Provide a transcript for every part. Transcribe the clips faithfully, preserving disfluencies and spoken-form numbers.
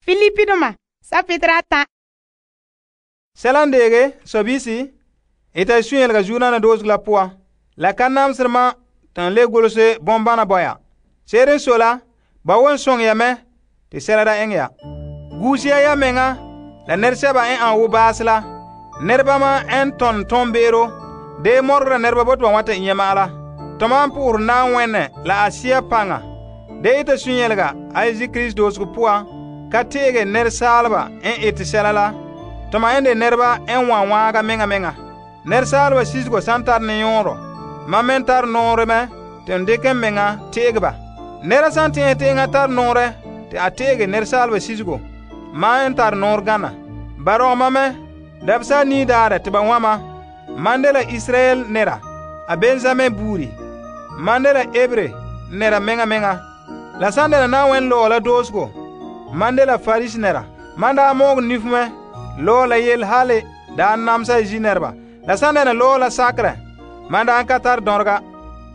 Filipidoma sapetera ata. Selan dege sobisi ita sunyelga Yudana doosego la poan. La ka namsere ma tan le golose bombana boya. Seerin sola ba won song ya me te sela da eŋɛ ya. Guusia ya menga la nerseba en an wo baase la. Nerba ma en ton ton beero de morgra nerba bot wa wata inyama la. Toman puur na wenne la asia panga. De ita sunyelga Aisi Christ doosego poan ka teege nersalba en ite sela la. Toma ende nerba en wan waaga menga menga. Nersalba sisgo santar ne yonro. Ma men tar nore me te ndeken menga teege ba. Nera san te te tar nore te a teege nersalba sisgo. Ma en tar nor gana. Baro ma me dabsa ni dare te ba wama. Mandela Israel nera. A Benjamin buri. Mandela Ebre nera menga menga. La sandela na wen lo la dosgo. Mandela Faris nera. Manda mog nifme. Lo la yel hale da namsa jinerba. La sandana lo la sakre. Manda an katar dorga.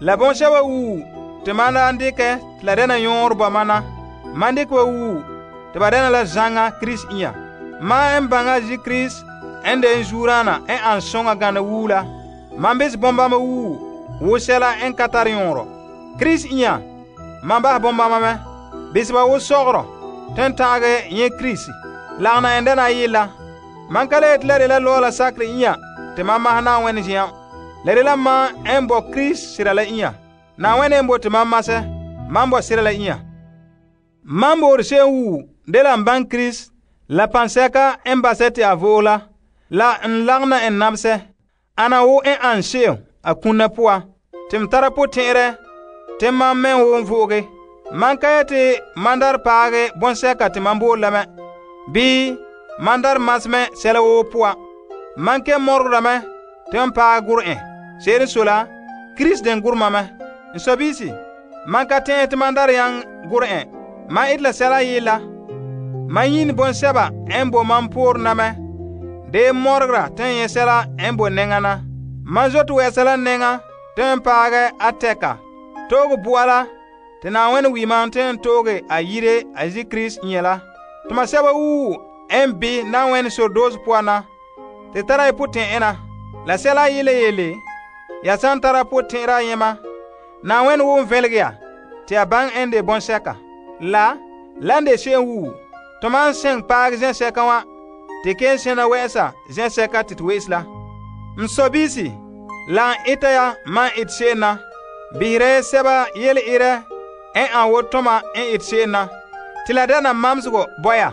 La bon shaba wu. Te manda andike la dena yor ba mana. Mandik wa wu. Te ba dena la zanga Chris iya. Ma en banga ji Chris ende en jurana en an songa gana wula. Mambis bomba ma wu. Wo sela en katar yoro. Chris iya. Mamba bomba ma me. Bisba wo sogro. Ten tage ye Chris. Lagna endena yila. Man kale et la la lola sakre iya te mama hana wen jiya le la ma embo Chris sira la iya na wen embo te mama se mambo sira la iya mambo se wu de la ban Chris la panseka embasete avola la nlagna en nabse ana wo en anshe akuna poa tim tara potere te mamme wo voge man kayete mandar paage bonseka te mambo la me bi mandar masme sela wo poa manke morgra me tem pa gur'e seri sola Chris den gurma me nsobisi manka te te mandar yang gur'e ma itla sela yila mayin bon seba embo mampur na me de morgra ten ye sela embo nengana manzot we sela nenga tem paage ateka togo buala te na wen wi mountain toge ayire azi Chris nyela tuma seba wu en bi na wen so doze poana te tara iputen ena la sela yele yele ya san tara puten ra yema na wen wo velgya te abang ende bon seka la lande she wu to man sen pag zen seka wa te ken sena wesa zen seka tit wesla msobisi la itaya man it sena bihre seba yele ire en an wotoma en it sena tila dana mamsgo boya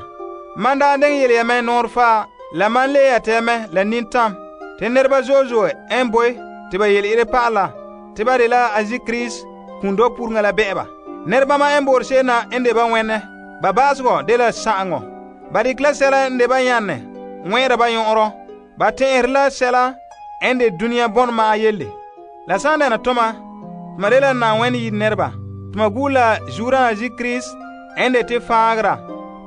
manda den yele yame norfa la man le yateme la nintam te nerba zozo en boy te ba yele ire pala te ba de la azi Chris kundo pur ngala beba nerba ma en bor sena ende ba wenne ba basgo de la sango ba di klasela ende ba yanne nwera ba yoro ba te la sela ende dunia bon ma yelle la sanda na toma madela na wen yi nerba tuma gula jura azi Chris ende te fagra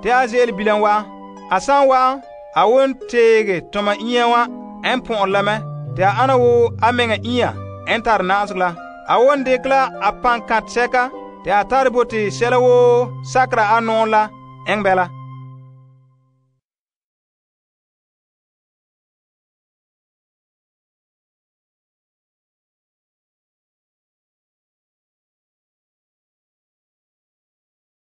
te azel bilanwa asan wa awon tege toma iyawa en pon lame te ana wo amenga iya entar nasgla awon dekla apan kat seka te atar boti selawo sakra anon la engbela